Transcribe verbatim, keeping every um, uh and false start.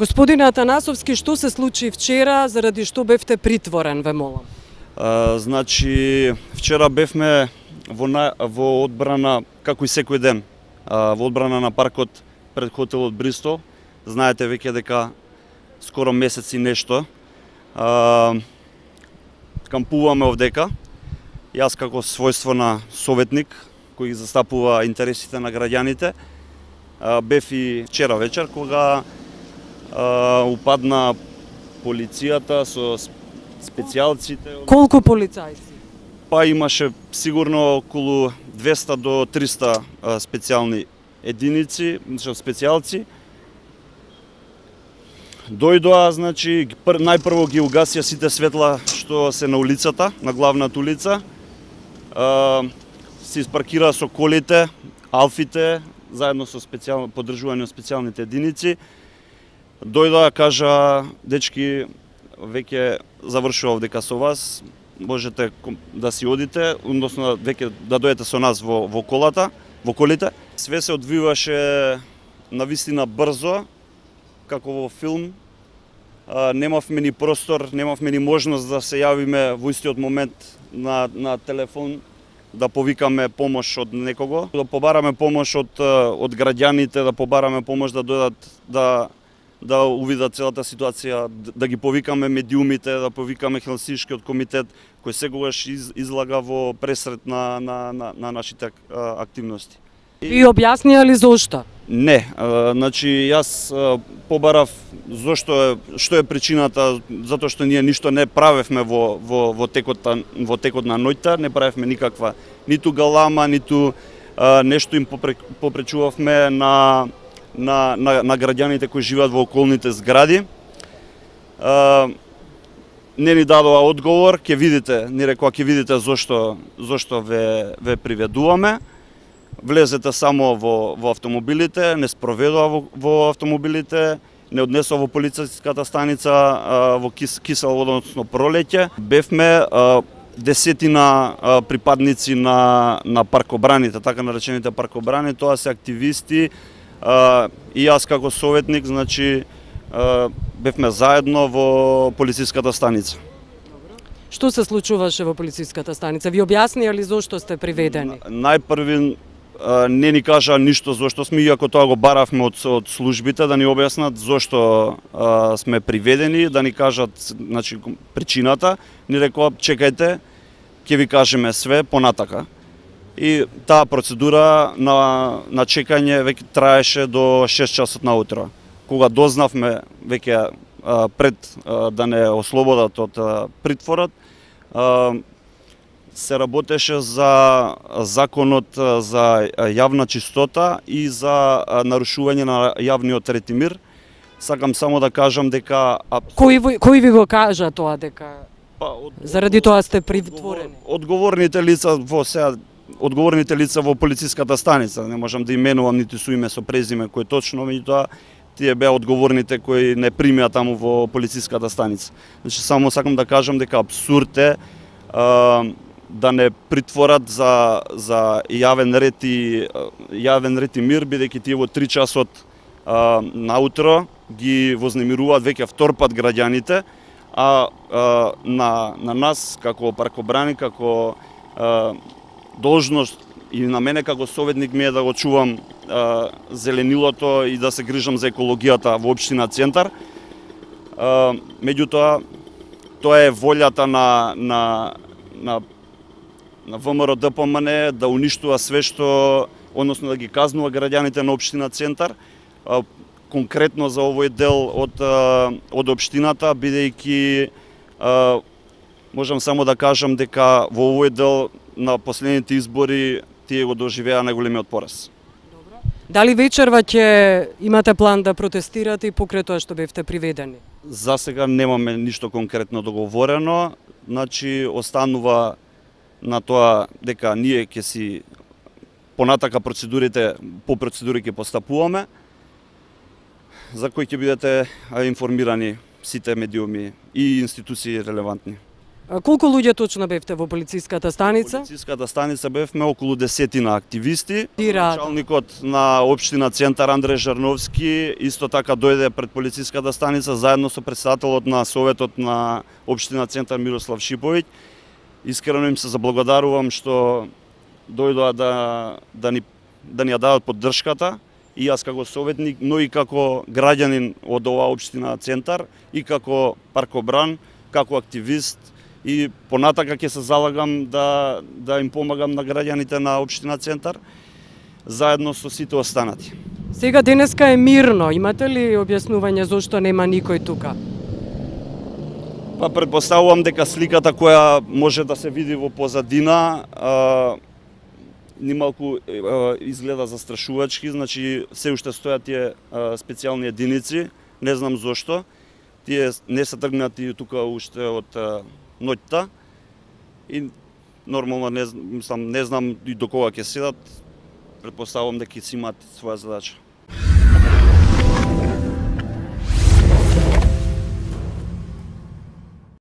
Господине Атанасовски, што се случи вчера, заради што бевте притворен, ве молам? А, значи, вчера бевме во, на, во одбрана, како и секој ден, а, во одбрана на паркот пред хотелот Бристол. Знаете веќе дека скоро месец и нешто а, кампуваме овдека. Јас како својство на советник кој застапува интересите на граѓаните, а, бев и вчера вечер кога а, упадна полицијата со специјалците. Колку полицајци? Па имаше сигурно околу двеста до триста специјални единици, специјалци. Дојдоа, значи, најпрво ги угасија сите светла што се на улицата, на главната улица. Се испаркираа со колите, алфите, заедно со специјално поддржување од специјалните единици. Дојдоа, кажа, дечки, веќе завршува овдека со вас, можете да си одите, односно веќе да дојдете со нас во, во колата, во колите. Све се одвиваше навистина брзо, како во филм. А, немавме ни простор, немавме ни можност да се јавиме во истиот момент на, на телефон, да повикаме помош од некого, да побараме помош од, од граѓаните, да побараме помош да дојдат да да увидат целата ситуација, да ги повикаме медиумите, да повикаме Хелсиншкиот комитет, кој секогаш из, излага во пресред на, на, на, на нашите а, активности. И објаснија ли зошто? Не, а, значи јас а, побарав зошто е, што е причината, затоа што ние ништо не правевме во, во, во, текот, во текот на ноќта, не правевме никаква ниту галама, ниту а, нешто им попречувавме на На, на, на граѓаните кои живеат во околните згради. А, не ни дадоа одговор, ќе видите, ни рекоа ќе видите зошто зошто ве ве приведуваме. Влезете само во во автомобилите, не спроведоа во, во автомобилите, не однесоа во полициската станица а, во кис, кисел, односно пролеќе. Бевме а, десетина а, припадници на на паркобраните, така наречените паркобрани, тоа се активисти. Uh, и јас како советник, значи, uh, бевме заедно во полициската станица. Што се случуваше во полициската станица? Ви објаснија ли зошто сте приведени? Најпрви uh, не ни кажа ништо зошто сме, иако тоа го баравме од, од службите, да ни објаснат зошто uh, сме приведени, да ни кажат, значи, причината. Ни рекоа, чекајте, ќе ви кажеме све понатака. И таа процедура на, на чекање веќе траеше до шест часот наутро. Кога дознавме веќе а, пред а, да не ослободат од а, притворот, а, се работеше за законот за јавна чистота и за а, нарушување на јавниот ред и мир. Сакам само да кажам дека... Кој, кој ви го кажа тоа дека па, од, заради тоа сте притворени? Одговорните лица во сега одговорните лица во полициската станица, не можам да именувам ниту со име со презиме кој точно, меѓутоа тие беа одговорните кои не примеа таму во полициската станица. Значи само сакам да кажам дека апсурд е а, да не притворат за за јавен ред и јавен ред и мир, бидејќи тие во три часот а, наутро ги вознемируваат веќе втор пат граѓаните, а, а на на нас како паркобрани, како а, должност и на мене како советник ми е да го чувам а, зеленилото и да се грижам за екологијата во општина Центар. А, меѓутоа, тоа е волјата на на на на ВМРО-ДПМН да уништува све што, односно да ги казнува граѓаните на општина Центар, а, конкретно за овој дел од а, од општината, бидејќи а, можам само да кажам дека во овој дел на последните избори тие го доживеа најголемиот пораз. Добро. Дали вечерва ќе имате план да протестирате и покрај тоа што бевте приведени? За сега немаме ништо конкретно договорено, значи останува на тоа дека ние ќе си понатака процедурите, по процедури ќе постапуваме, за кои ќе бидете информирани сите медиуми и институции релевантни. А колку луѓе точно бевте во полициската станица? Во полициската станица бевме околу десетина активисти. Ти рад. Началникот на општина Центар Андреј Жарновски исто така дојде пред полициската станица заедно со претседателот на советот на општина Центар Мирослав Шиповиќ. Искрено им се заблагодарувам што дојдоа да да ни да ни ја дадат поддршката, и јас како советник, но и како граѓанин од оваа општина Центар, и како паркобран, како активист, и понатака ќе се залагам да да им помагам на граѓаните на општина Центар заедно со сите останати. Сега денеска е мирно, имате ли објаснување зошто нема никој тука? Па претпоставувам дека сликата која може да се види во позадина а, нималку а, изгледа застрашувачки, значи се уште стојат тие а, специјални единици, не знам зошто. Тие не се тргнати тука уште од а, ноќта и нормално не, мислам, не знам и до кога ќе седат. Претпоставувам дека ќе си имаат своја задача.